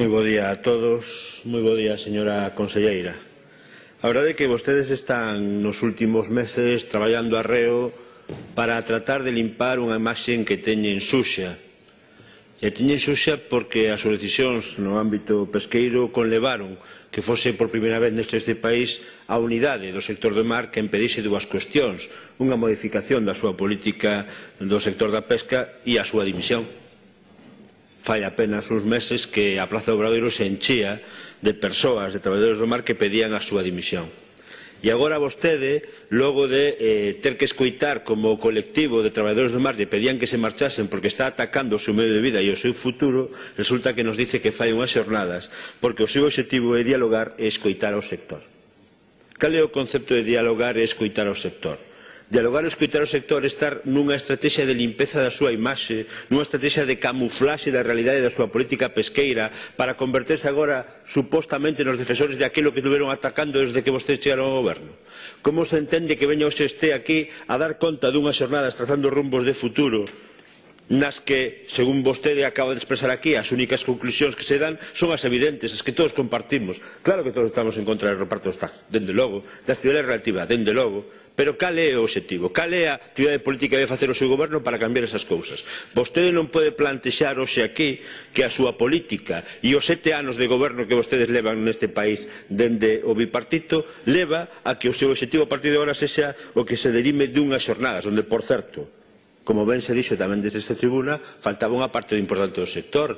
Moi bo día a todos, moi bo día, señora conselleira. A verdade é que vostedes están nos últimos meses traballando arreo para tratar de limpar unha imaxe que teñen suxa. E teñen suxa porque as súas decisións no ámbito pesqueiro conlevaron que fose por primeira vez neste país a unidade do sector do mar que impedise dúas cuestións: unha modificación da súa política do sector da pesca e a súa dimisión. Fai apenas uns meses que a Praza do Obradoiro se enchía de persoas, de traballadores do mar que pedían a súa dimisión. E agora vostede, logo de ter que escoitar como o colectivo de traballadores do mar lle pedían que se marchasen porque está atacando o seu medio de vida e o seu futuro, resulta que nos dice que fai unhas xornadas porque o seu obxectivo é dialogar e escoitar ao sector. Cal é o concepto de dialogar e escoitar ao sector? Dialogar e escoitar o sector é estar nunha estrategia de limpeza da súa imaxe, nunha estrategia de camuflaxe da realidade da súa política pesqueira para converterse agora supostamente nos defensores de aquilo que estuveron atacando desde que vostedes chegaron ao goberno. Como se entende que veña hoxe este aquí a dar conta dunhas xornadas trazando rumbos de futuro nas que, según vostede acaba de expresar aquí, as únicas conclusións que se dan son as evidentes, as que todos compartimos? Claro que todos estamos en contra do reparto dos taxas, dende logo, da actividade relativa, dende logo, pero cal é o obxectivo? Cal é a actividade política que vai facer o seu goberno para cambiar esas cousas? Vostede non pode plantexar hoxe aquí que a súa política e os 7 anos de goberno que vostedes levan neste país dende o bipartito leva a que o seu obxectivo a partir de agora sexa o que se derime dunhas xornadas, onde, por certo, como ben se dixo tamén desde esta tribuna, faltaba unha parte importante do sector.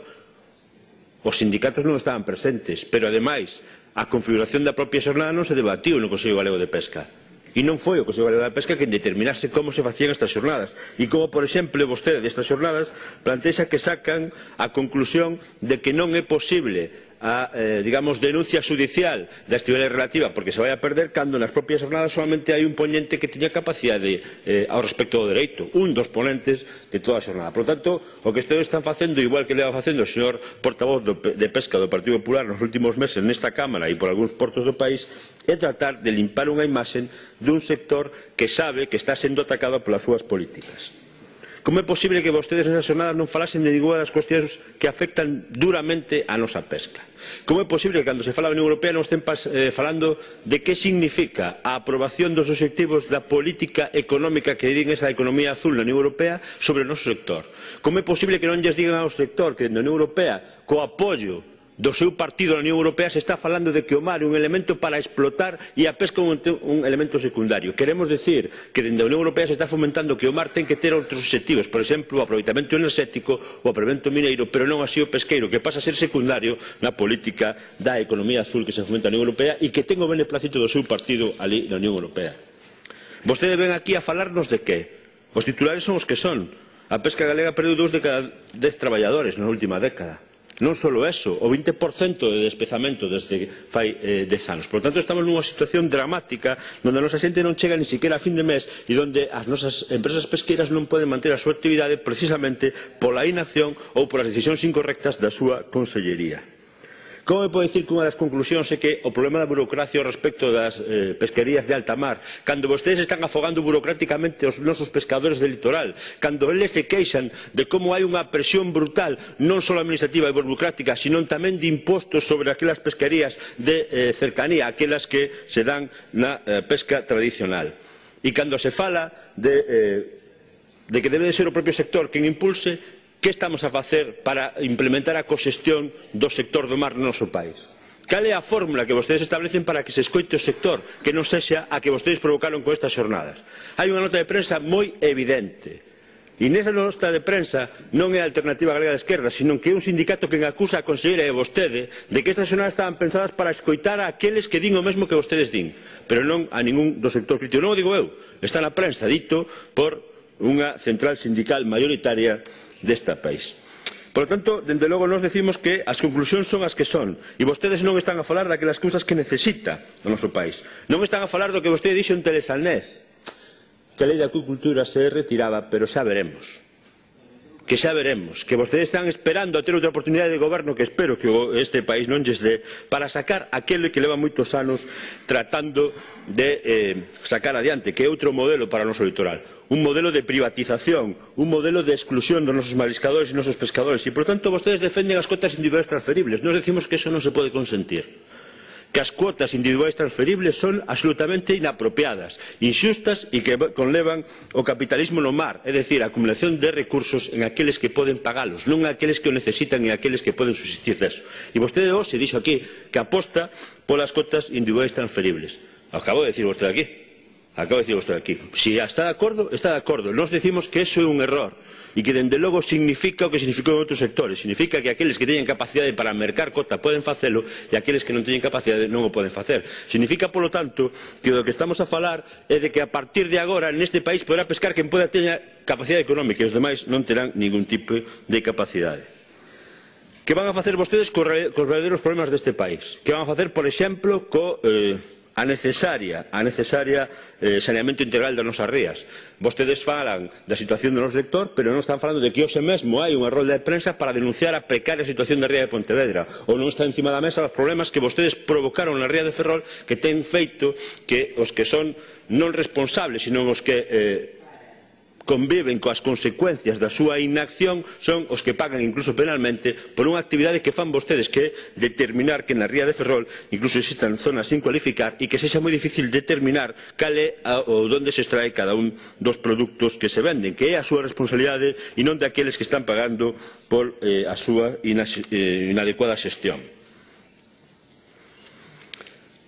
Os sindicatos non estaban presentes, pero ademais a configuración da propia xornada non se debatiu no Consello Galego de Pesca. E non foi o Consello Galego de Pesca quen determinase como se facían estas xornadas. E como, por exemplo, vostede destas xornadas plantexa que sacan a conclusión de que non é posible a, digamos, denuncia xudicial da actividade relativa porque se vai a perder cando nas propias xornadas solamente hai un ponente que teña capacidade ao respecto do dereito, un dos ponentes de toda a xornada. Por lo tanto, o que ustedes están facendo, igual que leva facendo o señor portavoz de Pesca do Partido Popular nos últimos meses nesta Cámara e por algúns portos do país, é tratar de limpar unha imaxe dun sector que sabe que está sendo atacado polas súas políticas. Como é posible que vostedes nesa xornada non falasen de ninguna das cuestións que afectan duramente a nosa pesca? Como é posible que cando se fala da Unión Europea non estén falando de que significa a aprobación dos obxectivos da política económica que din esa economía azul na Unión Europea sobre o noso sector? Como é posible que non lles digan ao sector que na Unión Europea, co apoio do seu partido na Unión Europea, se está falando de que o mar é un elemento para explotar e a pesca un elemento secundario? Queremos decir que dende a Unión Europea se está fomentando que o mar ten que ter outros obxectivos, por exemplo, o aproveitamento enerxético, o aproveitamento mineiro, pero non así o pesqueiro, que pasa a ser secundario na política da economía azul que se fomenta na Unión Europea e que ten o beneplácito do seu partido ali na Unión Europea. Vostedes ven aquí a falarnos de que? Os titulares son os que son. A pesca galega perdeu 2 de cada 10 traballadores na última década. Non só eso, o 20% de despezamento desde fai 10 anos. Por lo tanto, estamos nunha situación dramática onde a nosa xente non chega ni siquiera a fin de mes e onde as nosas empresas pesqueiras non poden manter a súa actividade precisamente pola inacción ou polas decisións incorrectas da súa consellería. Como me pode dicir que unha das conclusións é que o problema da burocracia ao respecto das pesquerías de alta mar, cando vostedes están afogando burocráticamente os nosos pescadores del litoral, cando eles se queixan de como hai unha presión brutal non só administrativa e burocrática, sino tamén de impostos sobre aquelas pesquerías de cercanía, aquelas que se dan na pesca tradicional. E cando se fala de que debe de ser o propio sector quen impulse, que estamos a facer para implementar a coxestión do sector do mar no noso país? Cal é a fórmula que vostedes establecen para que se escoite o sector, que non sexa a que vostedes provocaron con estas xornadas? Hai unha nota de prensa moi evidente. E nesa nota de prensa non é a Alternativa Galega de Esquerda, sino que é un sindicato que acusa a conselleira e a vostede de que estas xornadas estaban pensadas para escoitar a aqueles que din o mesmo que vostedes din, pero non a ningún do sector crítico. Non o digo eu, está na prensa, dito por unha central sindical maioritaria deste país. Por lo tanto, dende logo nos decimos que as conclusións son as que son e vostedes non están a falar daquelas cousas que necesita o noso país. Non están a falar do que vostede dixo en Telezalnés, que a lei de acuicultura se retiraba, pero xa veremos. que xa veremos, que vostedes están esperando a ter outra oportunidade de goberno que espero que este país non lles dé para sacar aquele que leva moitos anos tratando de sacar adiante, que é outro modelo para o noso litoral, un modelo de privatización, un modelo de exclusión dos nosos mariscadores e nosos pescadores, e por tanto vostedes defenden as cotas individuais transferibles. Nos decimos que eso non se pode consentir, que as cuotas individuais transferibles son absolutamente inapropiadas, inxustas e que conlevan o capitalismo no mar, é dicir, a acumulación de recursos en aqueles que poden pagalos, non aqueles que o necesitan e aqueles que poden subsistir deso. E vostede hoxe dixo aquí que aposta polas cotas individuais transferibles. Acabo de decir vostede aquí. Si está de acordo, está de acordo. Nós decimos que eso é un error e que, dende logo, significa o que significou en outros sectores. Significa que aqueles que teñen capacidade para mercar cota poden facelo e aqueles que non teñen capacidade non o poden facer. Significa, polo tanto, que do que estamos a falar é de que a partir de agora neste país poderá pescar quen poda teña capacidade económica e os demais non terán ningún tipo de capacidade. Que van a facer vostedes cos verdadeiros problemas deste país? Que van a facer, por exemplo, a necesaria saneamento integral das nosas rías? Vostedes falan da situación do noso sector, pero non están falando de que hoxe mesmo hai unha rolda de prensa para denunciar a precaria situación da ría de Pontevedra, ou non está encima da mesa os problemas que vostedes provocaron na ría de Ferrol, que ten feito que os que son non responsables, sino os que conviven coas consecuencias da súa inacción son os que pagan incluso penalmente por unha actividade que fan vostedes, que é determinar que na ría de Ferrol incluso existan zonas sin cualificar e que sexa moi difícil determinar cal é ou onde se extrae cada un dos produtos que se venden, que é a súa responsabilidade e non daqueles que están pagando por a súa inadecuada xestión.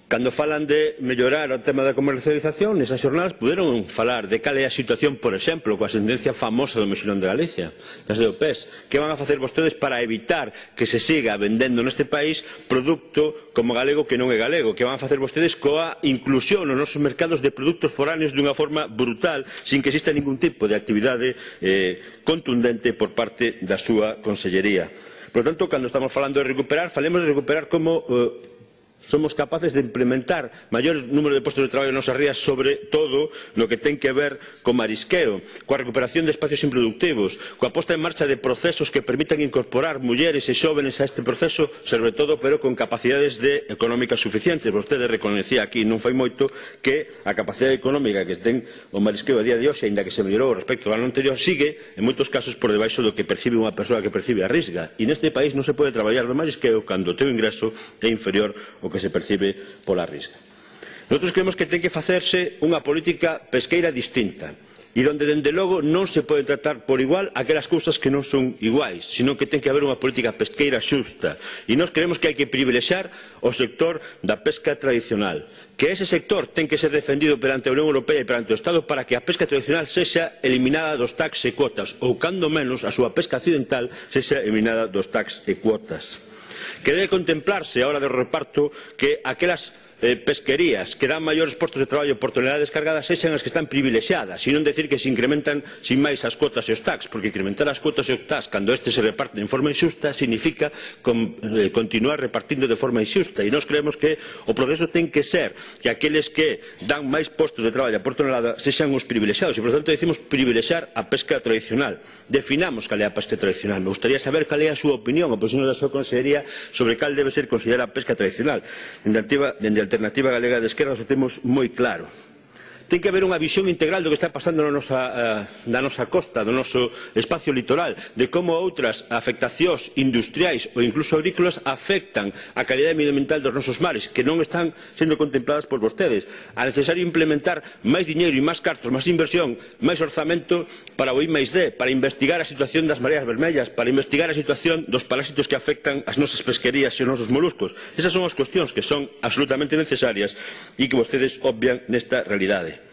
Cando falan de mellorar o tema da comercialización, nesas xornadas puderon falar de cal é a situación, por exemplo, coa sentencia famosa do Mexilón de Galicia, das de OPES. Que van a facer vostedes para evitar que se siga vendendo neste país produto como galego que non é galego? Que van a facer vostedes coa inclusión nos nosos mercados de produtos foráneos dunha forma brutal, sin que exista ningún tipo de actividade contundente por parte da súa consellería? Por lo tanto, cando estamos falando de recuperar, falemos de recuperar como somos capaces de implementar maior número de postos de traballo nas nosas rías, sobre todo no que ten que ver co marisqueo, coa recuperación de espacios improductivos, coa posta en marcha de procesos que permitan incorporar mulleres e xóvenes a este proceso, sobre todo, pero con capacidades económicas suficientes. Vostede reconocía aquí non fai moito que a capacidade económica que ten o marisqueo a día de hoxe, aínda que se mellorou respecto ao ano anterior, sigue en moitos casos por debaixo do que percibe unha persoa que percibe a risga, e neste país non se pode traballar no marisqueo cando o teu ingreso é inferior ao que se percibe pola risga. Nosotros creemos que ten que facerse unha política pesqueira distinta, e donde, dende logo, non se pode tratar por igual aquelas cousas que non son iguais, sino que ten que haber unha política pesqueira xusta. E nós creemos que hai que privilexiar o sector da pesca tradicional, que ese sector ten que ser defendido perante a Unión Europea e perante o Estado para que a pesca tradicional sexa eliminada dos tax e cuotas, ou, cando menos, a súa pesca accidental sexa eliminada dos tax e cuotas. Que debe contemplarse a hora do reparto que aquelas pesquerías que dan maiores postos de traballo por tonelada descargada sexan as que están privilexiadas, e non decir que se incrementan sin máis as cuotas e os tax, porque incrementar as cuotas e os tax cando este se reparten de forma inxusta significa continuar repartindo de forma inxusta, e nós creemos que o progreso ten que ser que aqueles que dan máis postos de traballo por tonelada sexan os privilexiados, e por tanto decimos privilexiar a pesca tradicional. Definamos cal é a pesca tradicional. Me gustaría saber cal é a súa opinión, a posición da súa consellería sobre cal debe ser considerada a pesca tradicional. Dende a Alternativa Galega de Esquerda o temos moi claro. Ten que haber unha visión integral do que está pasando na nosa costa, do noso espacio litoral, de como outras afectacións industriais ou incluso agrícolas afectan a calidade medioambiental dos nosos mares, que non están sendo contempladas por vostedes. É necesario implementar máis diñeiro e máis cartos, máis inversión, máis orzamento para o I+D, para investigar a situación das mareas vermellas, para investigar a situación dos parásitos que afectan as nosas pesquerías e os nosos moluscos. Esas son as cuestións que son absolutamente necesarias e que vostedes obvian nesta realidade.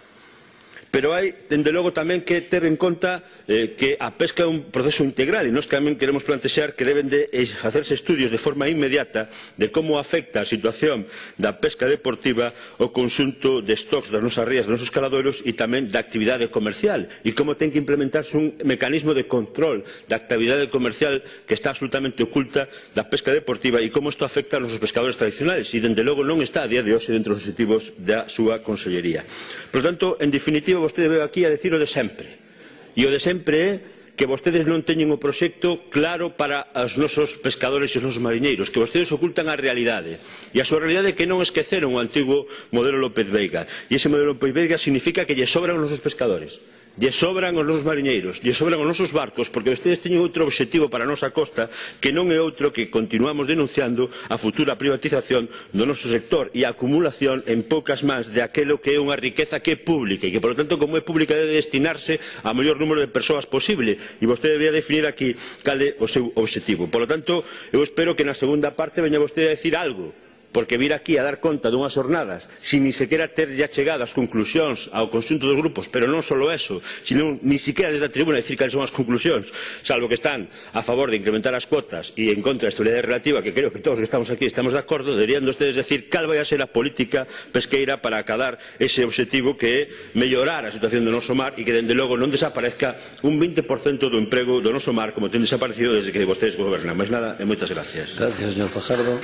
Pero hai, dende logo, tamén que ter en conta que a pesca é un proceso integral, e nós tamén queremos plantexar que deben de facerse estudios de forma inmediata de como afecta a situación da pesca deportiva o conxunto de stocks das nosas rías, dos nosos caladoiros, e tamén da actividade comercial, e como ten que implementarse un mecanismo de control da actividade comercial que está absolutamente oculta da pesca deportiva, e como isto afecta a nosos pescadores tradicionales, e dende logo non está a día de hoxe dentro dos objetivos da súa consellería. Por tanto, en definitiva, vostede veu aquí a decir o de sempre. E o de sempre é que vostedes non teñen o proxecto claro para os nosos pescadores e os nosos mariñeiros, que vostedes ocultan a realidade. E a súa realidade é que non esqueceron o antigo modelo López Veiga. E ese modelo López Veiga significa que lle sobran os nosos pescadores, lle sobran os nosos mariñeiros, lle sobran os nosos barcos, porque vostedes teñen outro obxectivo para a nosa costa que non é outro que continuamos denunciando a futura privatización do noso sector e a acumulación en poucas mans de aquilo que é unha riqueza que é pública e que, por lo tanto, como é pública, debe destinarse ao maior número de persoas posible, e vostede debería definir aquí cal é o seu obxectivo. Por lo tanto, eu espero que na segunda parte veña vostede a decir algo, porque vir aquí a dar conta dunhas jornadas sin ni sequera ter ya chegado as conclusións ao conxunto dos grupos, pero non só eso, sino ni sequera desde a tribuna decir cales son as conclusións, salvo que están a favor de incrementar as cuotas e en contra da estabilidade relativa, que creo que todos que estamos aquí estamos de acordo, deberían ustedes decir cal vai a ser a política pesqueira para acadar ese obxectivo que é mellorar a situación do noso mar e que, dende logo, non desaparezca un 20% do emprego do noso mar como ten desaparecido desde que vostedes gobernan. Mais nada, e moitas gracias. Gracias, señor Fajardo.